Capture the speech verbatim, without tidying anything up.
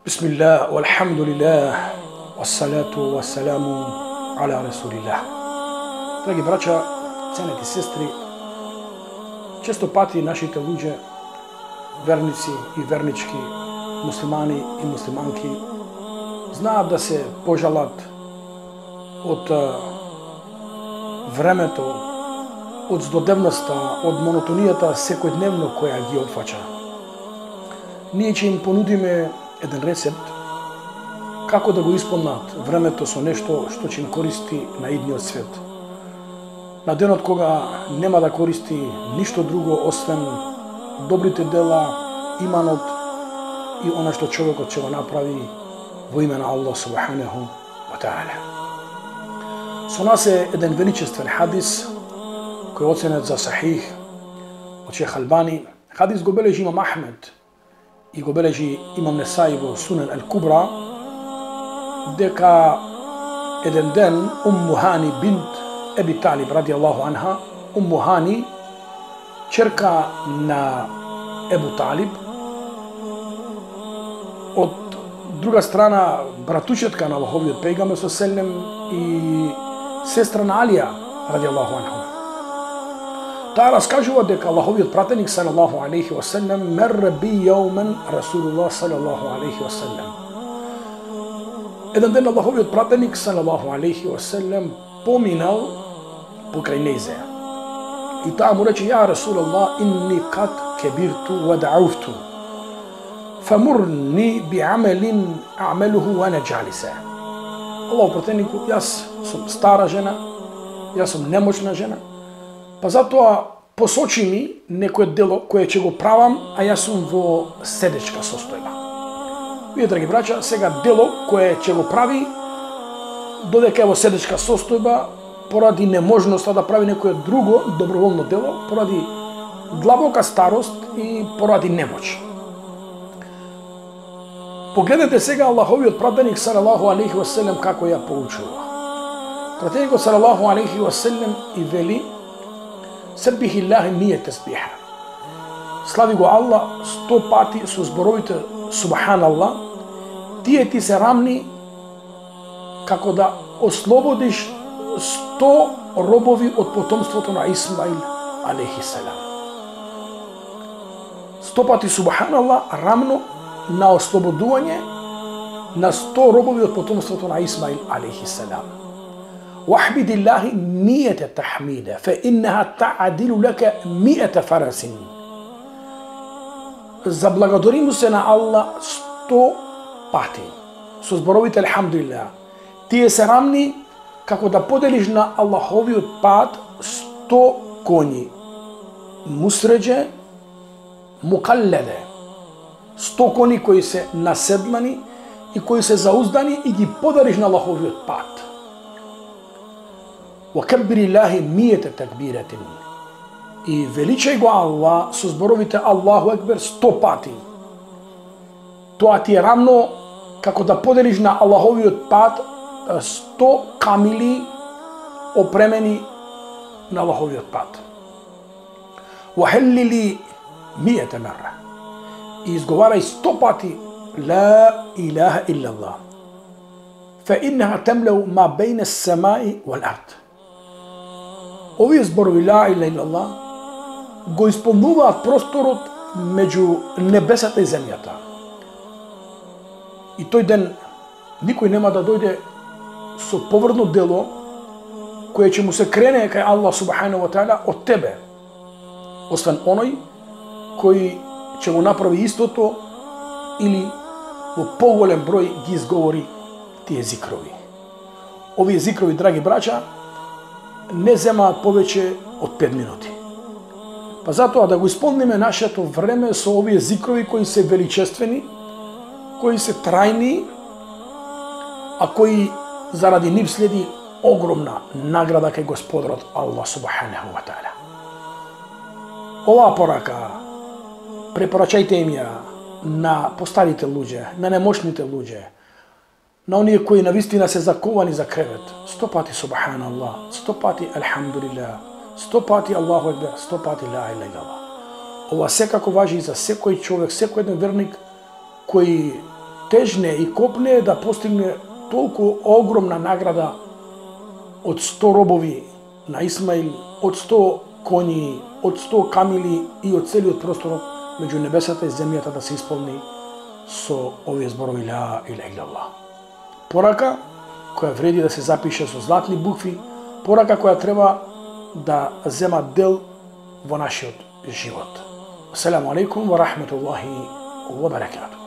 Bismillah, walhamdulillah, wassalatu wassalamu ala rasulillah. Драги браќа, ценети сестри, често пати нашите луѓе, верници и вернички, муслимани и муслиманки, знаат да се пожалат од времето, од здодевноста, од монотонијата секојдневно која ги опфаќа. Ние ќе им понудиме еден рецепт како да го исполнат времето со нешто што ќе им користи на идниот свет. На денот кога нема да користи ништо друго освен добрите дела, иманот и она што човекот ќе го направи во име на Аллах субханаху ва таала. Со нас е еден величествен хадис кој е оценет за сахих од Шех Албани. Хадис го бележи имам Ахмед и го бележи имам Несаи во Сунен Ал-Кубра, дека еден ден Умму Хани бинт Еби Талиб ради Аллаху анха, Умму Хани, черка на Ебу Талиб, од друга страна братучетка на Аллаховиот пејгамбер со селем и сестра на Алија ради Аллаху анха. Таа раскажува дека Аллаховиот пратеник салаллаху алейхи ва селем мерре би јаумен Расулуллах салаллаху алейхи ва селем. Еден ден Аллаховиот пратеник салаллаху алейхи ва селем поминал покрај незе. И таа му рече: ја Расулуллах, инни кад кебирту ва дa'уфту фамурни би амелин а'мелуху ва ана џалиса. Аллахов пратенику, јас сум стара жена, јас сум немочна жена, па затоа посочи ми некое дело кое ќе го правам, а јас сум во седечка состојба. Вие, драги браќа, сега дело кое ќе го прави, додека е во седечка состојба, поради неможноста да прави некое друго доброволно дело, поради длабока старост и поради немоќ. Погледнете сега Аллаховиот пратеник салаллаху алейхи ва селем како ја поучува. Пратеникот салаллаху алейхи ва селем и вели: Саббихи Аллахи мие тесбиха. Слави го Аллах сто пати со зборовите Субханаллах, тие ти се рамни како да ослободиш сто робови од потомството на Исмаил алейхи селам. Сто пати Субханаллах рамно на ослободување на сто робови од потомството на Исмаил алейхи селам. وَاحْمِدِ اللَّهِ مِيَّةَ تَحْمِيدًا فَإِنَّهَا تَعْدِلُ لَكَ مِيَّةَ فَرَسٍ. Заблагодари му се на Аллах сто пати со зборовите Алхамдулилlah. Тие се рамни како да поделиш на Аллаховиот пат сто коњи. Мусреđe, мукалледе. сто коњи кои се наседмани и кои се зауздани и ги подариш на Аллаховиот пат. وَكَبِّرِ اللَّهِ مِيَّةَ تَكْبِيرَةٍ. И величај го Аллах со зборовите Аллаху екбер сто пати. Тоа ти е рамно како да поделиш на Аллаховиот пат сто камили опремени на Аллаховиот пат. وَحَلِّلِ مِيَّةَ مَرَّةٍ. И изговарај сто пати لا إله إلا الله فإنها تملأ ما بين السماء والأرض. Овие зборови ла иляха илlallah го исполнуваат просторот меѓу небесата и земјата. И тој ден никој нема да дојде со поврдно дело кое ќе му се крене кај Аллах субханаху ва таала од тебе, освен оној кој ќе го направи истото или во поголем број ги изговори тие зикрови. Овие зикрови, драги браќа, не земаат повеќе од пет минути. Па затоа да го исполниме нашето време со овие зикрови кои се величествени, кои се трајни, а кои заради нив следи огромна награда кај Господарот Аллах субханаху ва таала. Оваа порака препорачајте им ја на постарите луѓе, на немошните луѓе, на оние кои навистина се заковани за кревет. Сто пати Субханаллах, сто пати Алхамдулилlah, сто пати Аллаху екбер, сто пати ла иляха илаллах. Ова секако важи и за секој човек, секој еден верник кој тежне и копне да постигне толку огромна награда од сто робови на Исмаил, од сто коњи, од сто камили и од целиот простор меѓу небесата и земјата да се исполни со овие зборови ла иляха илаллах. Порака која вреди да се запише со златни букви, порака која треба да зема дел во нашиот живот. Ассаламу алейкум ва рахметуллахи ва баракатуh.